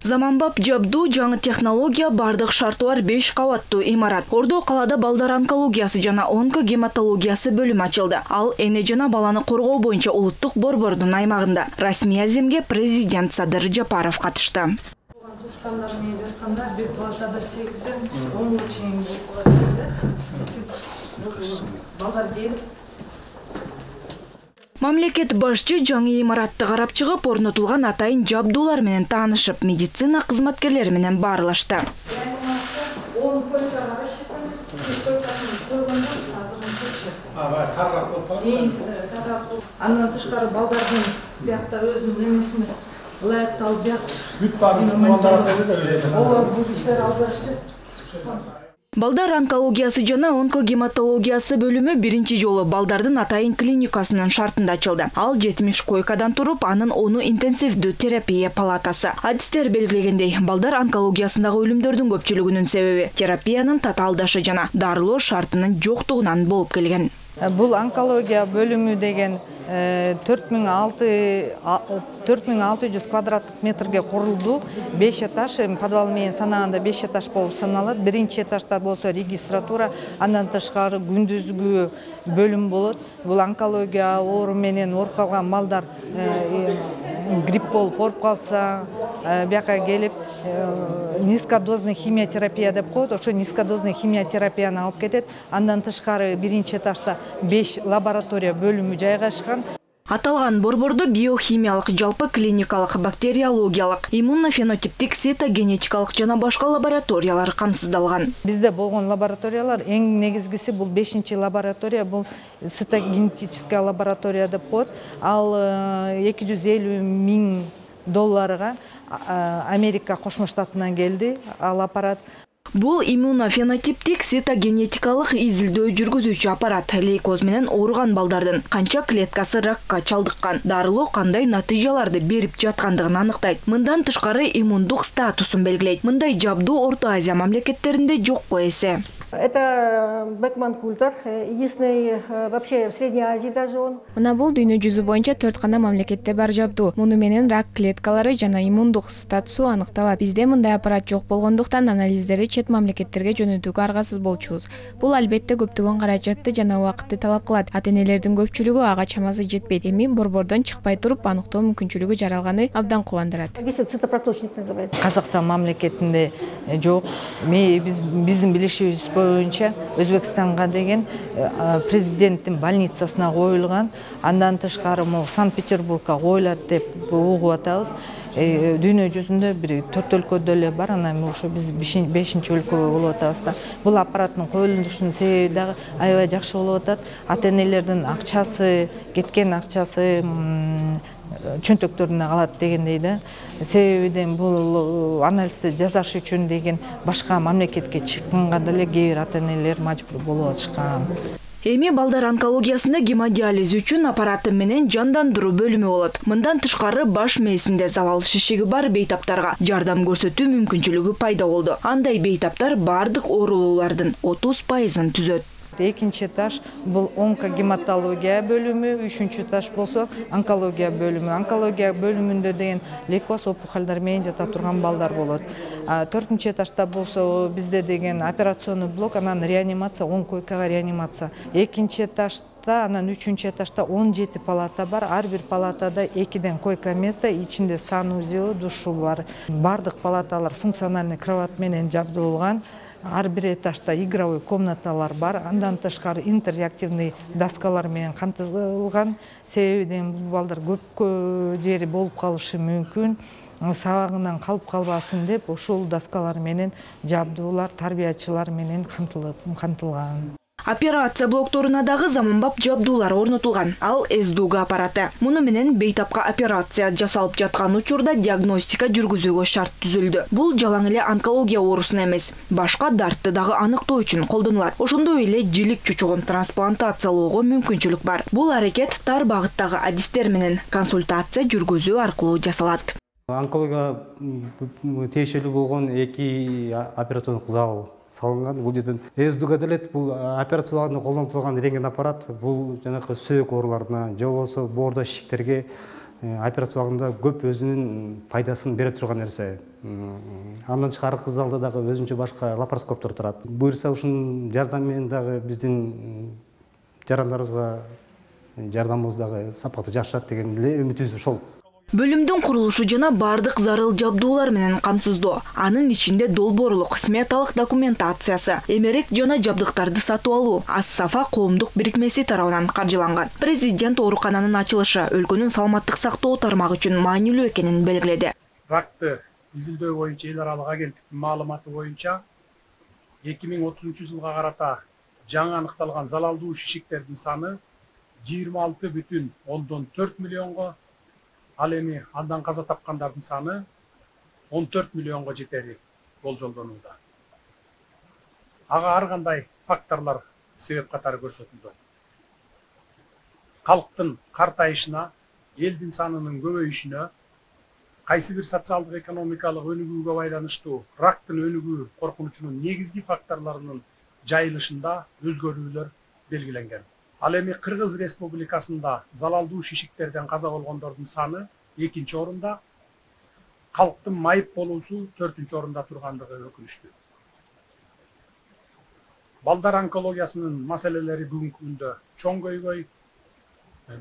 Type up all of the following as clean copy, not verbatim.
Заманбап жабдуу жаңы технология бардык шарты бар 5 кабаттуу имарат. Ордо калада балдар онкологиясы жана онкогематологиясы бөлүмү ачылды. Ал эне жана баланы коргоо боюнча улуттук борбордун аймагында. Расмий аземге президент Садыр Жапаров катышты. Тушкандар менен жатканда бир палатада 8ден 10га чейин балдар келип Мамлекет башчы жаңы имаратты карап чыгып, орнотулган атайын жабдуулар менен таанышып, медицина кызматкерлери менен баарлашты. Андан тышкары балдардын биякта өзүнүн эмесине ылайыктуу бияк Балдар онкологиясы жана онкогематологиясы бөлүмү биринчи жолу балдардын атайын клиникасынын шартында ачылды. Ал 70 койкадан туруп, анын 10 интенсивдүү терапия палатасы. Адистер белгилегендей, балдар онкологиясындагы өлүмдөрдүн көпчүлүгүнүн себеби терапиянын татаалдашы жана дарылоо шартынын жоктугунан болуп келген. Бул онкология бөлүмү деген 4600 квадраттык метрге курулду. 5 этаж, подвал менен санаганда 5 этаж болуп саналат. Биринчи этажда болсо регистратура, андан тышкары күндүзгү бөлүм болот. Бул онкология оору менен ооруп калган балдар грипп болуп ооруп калса, бияка келип низкодозный химиотерапия деп коет. Ошо низкодозный химиотерапияны алып кетет. Андан тышкары биринчи этажда 5 лаборатория бөлүмү жайгашкан. Аталган борбордо биохимиялык, жалпы клиникалык, бактериологиялык, иммунофенотиптик, цитогенетикалык жана башка лабораториялар камсыздалган. Бизде болгон лабораториялар эң негизгиси бул 5-чи лаборатория, бул цитогенетическая лаборатория деп коет. Ал $250 миң Америка Кошмо Штатынан келди, ал аппарат. Бул иммунофенотиптик цитогенетикалык изилдөө жүргүзүүчү аппарат лейкоз менен ооруган балдардын канча клеткасы ракка чалдыккан, дарылоо кандай натыйжаларды берип жаткандыгын аныктайт. Мындан тышкары иммундук статусун белгилейт. Мындай жабдуу Орто Азия мамлекеттеринде жокко эсе. Это Бекман Культер, единственный вообще в Средней Азии даже он. Мына бул дүйнө жүзү боюнча 4 гана мамлекетте бар жабдуу. Муну менен рак клеткалары жана иммундук статусу аныкталат. Бизде мындай аппарат жок болгондуктан анализдерди чет мамлекеттерге жөнөтүүгө аргасыз болчубуз. Бул албетте көптөгөн каражатты жана убакытты талап кылат. Ата-энелердин көпчүлүгү ага чамасы жетпейт. Эми борбордон чыкпай туруп аныктоо мүмкүнчүлүгү жаралганы абдан кубандырат. Цитопроточник называется. Казакстан мамлекетинде жок. Биздин билишибиз боюнча Өзбекстанга деген президенттин больницасына коюлган. Андан тышкары Санкт-Петербургга коюлат деп угуп атабыз. Дүйнө жүзүндө бир 4 өлкөдө эле бар, анан ошо биз 5-чи өлкө болуп атабыз да. Бул аппараттын коюлушунун себеби дагы аябай жакшы болуп атат. Ата-энелердин акчасы, кеткен акчасы чөнтөктөрүнө калат дегендей да. Себебиден бул анализди жасаш үчүн деген башка мамлекетке чыкканга деле кээ бир ата-энелер мажбур болуп атышкан. Эми балдар онкологиясында гемодиализ үчүн аппараты менен жандандыруу бөлүмү болот. Мындан тышкары баш мээсинде залал шишиги бар бейтаптарга жардам көрсөтүү мүмкүнчүлүгү пайда болду. Андай бейтаптар бардык оорулуулардын 30%-ын түзөт. Экинчи этаж бул онкогематология бөлүмү, үчүнчү этаж болсо онкология бөлүмү. Онкология бөлүмүндө деген лейкоз опухолдор менен жата турган балдар болот. 4-чү этажда болсо бизде деген операционный блок, анан реанимация, 10 койкага реанимация. Экинчи этажда, анан 3-чү этажда 17 палата бар. Ар бир палатада 2ден койка место, ичинде санузел, душу бар. Бардык палаталар функциональный кровать менен жабдылган. Ар бир этажда игровой комнаталар бар. Андан тышкары интерактивный доскалар менен камтылган. Себебиден бул балдар көп жери болуп калышы мүмкүн. Сабагынан калып калбасын деп ошол доскалар менен жабдуулар тарбиячылар менен камтылган. Операция блокторуна дагы заманбап жабдуулар орнотулган. Ал СДУГ аппараты. Муну менен бейтапка операция жасалып жаткан учурда диагностика жүргүзүүгө шарт түзүлдү. Бул жалаң эле онкология оорусуна эмес, башка дартты дагы аныктоо үчүн колдонулат. Ошондой эле жилик чучугун трансплантациялоого мүмкүнчүлүк бар. Бул аракет тар багыттагы адистер менен консультация жүргүзүү аркылуу жасалат. Онкология тиешелүү болгон 2 операциондук зал салынган. Бул жерден СДУга делет, бул операцияларда колдонулган рентген аппарат, бул жанакы сөөк ооруларына, же болбосо боордо шишиктерге операция убагында көп өзүнүн пайдасын бере турган нерсе. Андан тышкары кыз залда дагы өзүнчө башка лапароскоптор турат. Буюрса ушунун жардамы менен дагы биздин жарандарыбызга жардамыбыз дагы сапаты жакшырат деген эле үмүтүбүз ошол. Бөлүмдүн курулушу жана бардык зарыл жабдуулар менен камсыздоо, анын ичинде долбоорлук, сметалык документациясы, эмерек жана жабдыктарды сатып алуу Ас-Сафа коомдук бирикмеси тарабынан каржыланган. Президент оорукананын ачылышы өлкөнүн саламаттык сактоо тармагы үчүн маанилүү экенин белгиледи. Ракты изилдөө боюнча эл аралык агенттиктин маалыматы боюнча 2030-жылга карата жаңы аныкталган залалдуу шишиктердин саны 26,4 миллионго, ал эми андан каза тапкандардын саны 14 миллионго жетери болжолдонууда. Ага ар кандай факторлор себеп катары көрсөтүлдү. Калктын картайышына, элдин санынын көбөйүшүнө, кайсы бир социалдык экономикалык өнүгүүгө байланыштуу рактын өнүгүү коркунучунун негизги факторлорунун жайылышында өзгөрүүлөр белгиленген. Ал эми Кыргыз Республикасында залалдуу шишиктерден каза болгондордун саны 2-нчи орунда, калктын майып болуусу 4-нчү орунда тургандыгы өкүнүчтүү. Балдар онкологиясынын маселелери бүгүнкү күндө чоң көйгөй.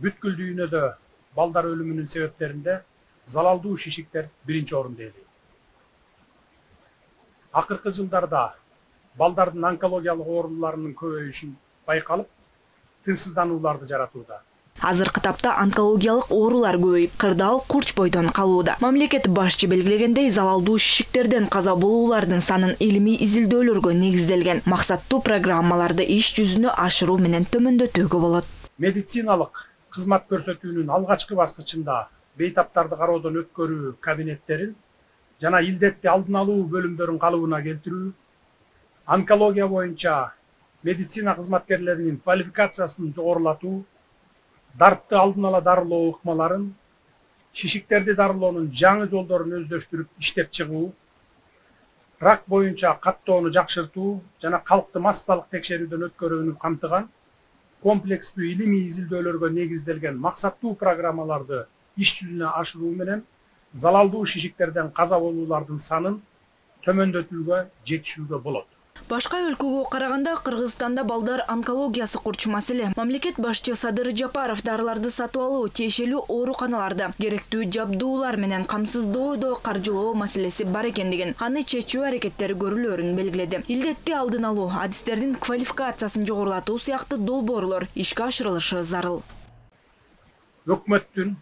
Бүткүл дүйнөдө балдар өлүмүнүн себептеринде залалдуу шишиктер 1-нчи орунда ээлейт. Акыркы жылдарда балдардын онкологиялык ооруларынын көбөйүшүн байкалып, тынчсызданууларды жаратууда. Азыркы тапта онкологиялык оорулар көбөйүп, кырдаал курч бойдон калууда. Мамлекет башчы белгилегендей, залалдуу шишиктерден каза болуулардын санын илимий изилдөөлөргө негизделген максаттуу программаларды иш жүзүнө ашыруу менен төмөндөтүүгө болот. Медициналык кызмат көрсөтүүнүн алгачкы баскычында бейтаптарды кароодон өткөрүү кабинеттерин жана илдетти алдын алуу бөлүмдөрүн калыбына келтирүү, онкология боюнча медицина кызматкерлеринин квалификациясын жогорулатуу, дартты алдын ала дарылоо ыкмаларын, шишиктерди дарылоонун жаңы жолдорун өздөштүрүп иштеп чыгуу, рак боюнча каттоону жакшыртуу жана калкты массалык текшерүүдөн өткөрүүнү камтыган комплекстүү илимий изилдөөлөргө негизделген максаттуу программаларды иш жүзүнө ашыруу менен залалдуу шишиктерден каза болуулардын санын төмөндөтүүгө жетишүүгө болот. Башка өлкөгө караганда Кыргызстанда балдар онкологиясы курч маселе. Мамлекет башчы Садыр Жапаров дарыларды сатып алуу, тиешелүү ооруканаларды керектүү жабдуулар менен камсыздоодо каржылоо маселеси бар экендигин, аны чечүү аракеттери көрүлөөрүн белгиледи. Илдетти алдын алуу, адистердин квалификациясын жогорулатуу сыяктуу долбоорлор ишке ашырылышы зарыл. Өкмөттүн,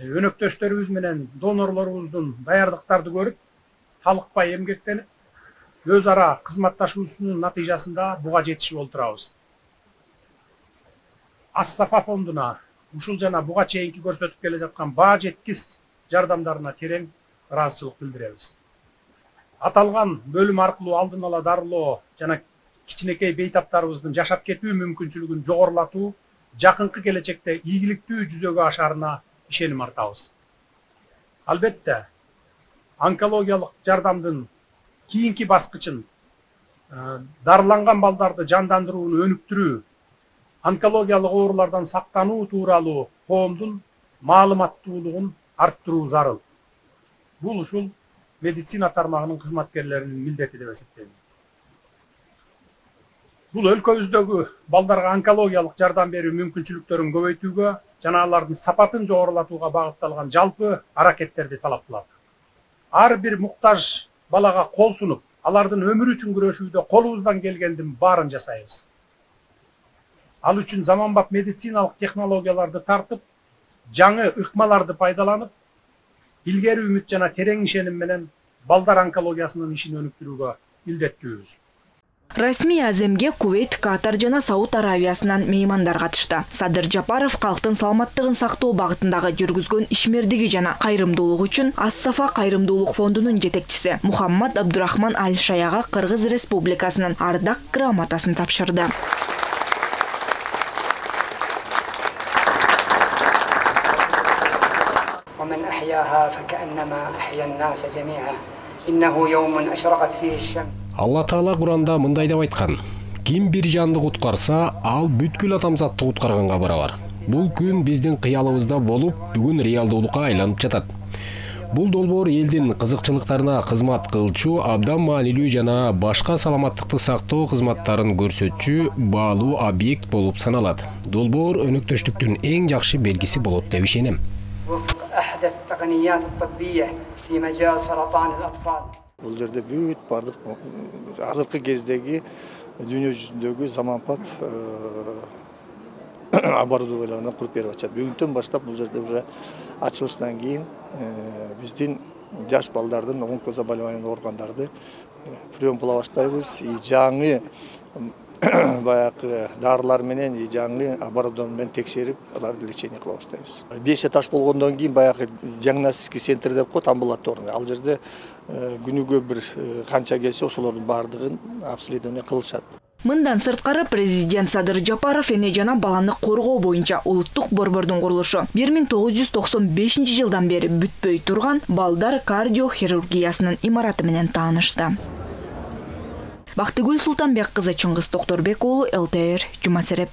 өнөктөштөрүбүз менен донорлорубуздун даярдыктарды көрүп, талыкпай эмгектенип, өз ара кызматташуусунун натыйжасында буга жетишип олтурабыз. Ас-Сафа фондуна ушул жана буга чейинки көрсөтүп келе жаткан баа жеткис жардамдарына терең ыраазычылык билдиребиз. Аталган бөлүм аркылуу алдын ала дарылоо жана кичинекей бейтаптарыбыздын жашап кетүү мүмкүнчүлүгүн жогорулатуу жакынкы келечекте ийгиликтүү жүзөгө ашарына ишеним артабыз. Албетте, онкологиялык жардамдын кийинки баскычын дарыланган балдарды жандандырууну өнүктүрүү, онкологиялык оорулардан сактануу тууралуу коомдун маалыматтуулугун арттыруу зарыл. Бул ушул медицина тармагынын кызматкерлеринин милдети деп эсептейм. Бул өлкөбүздөгү балдарга онкологиялык жардам берүү мүмкүнчүлүктөрүн көбөйтүүгө жана алардын сапатын жогорулатууга багытталган жалпы аракеттерди талап кылат. Ар бир муктаж балага кол сунуп, алардын өмүрү үчүн күрөшүүдө колубуздан келгендин баарын жасайбыз. Ал үчүн заманбап медициналык технологияларды тартып, жаңы ыкмаларды пайдаланып, илгери үмүт жана терең ишеним менен балдар онкологиясынын ишин өнүктүрүүгө милдеттүүбүз. Расмий аземге Кувейт, Катар жана Сауд Аравиясынан меймандар катышты. Садыр Жапаров калктын саламаттыгын сактоо багытындагы жүргүзгөн ишмердиги жана кайрымдуулугу үчүн Ас-Сафа кайрымдуулук фондунун жетекчиси Мухаммад Абдурахман Аль-Шаяга Кыргыз Республикасынын ардак грамотасын тапшырды. ومن أحياها فكأنما أحيا الناس جميعا إنه يوم أشرقت فيه الشمس. Алла Таала Куранда мындай деп айткан: Ким бир жанды куткарса, ал бүткүл адамзатты куткарганга барабар. Бул күн биздин кыялыбызда болуп, бүгүн реалдуулукка айланып жатат. Бул долбоор элдин кызыкчылыктарына кызмат кылчу, абдан маанилүү жана башка саламаттыкты сактоо кызматтарын көрсөтчү баалуу объект болуп саналат. Долбоор өнөктөштүктүн эң жакшы белгиси болот деп ишенем. Бул жерде бүт бардык азыркы кездеги дүйнө жүзүндөгү заманпап оборудованиялардан куруп берип атышат. Бүгүнтөн баштап бул жерде уже ачылышынан кийин биздин жаш балдардын онкозаболеваниялар ооругандарды приемкалай баштайбыз. Жаңы баягы дарылар менен, жаңы оборудование менен текшерип, аларды лечение кыла баштайбыз. 5 этаж болгондон кийин баягы диагностика центр деп коет, амбулаторный. Ал жерде күнүгө бир канча келсе, ошолордун баардыгын обследование кылышат. Мындан сырткары президент Садыр Жапаров эне жана баланы коргоо боюнча улуттук борбордун курулушу 1995 жылдан бери бүтпөй турган балдар кардиохирургиясынын имараты менен таанышты. Бактыгүл Султанбек кызы, Чыңгыз Токторбек уулу, ЛТР, Жума Сереп.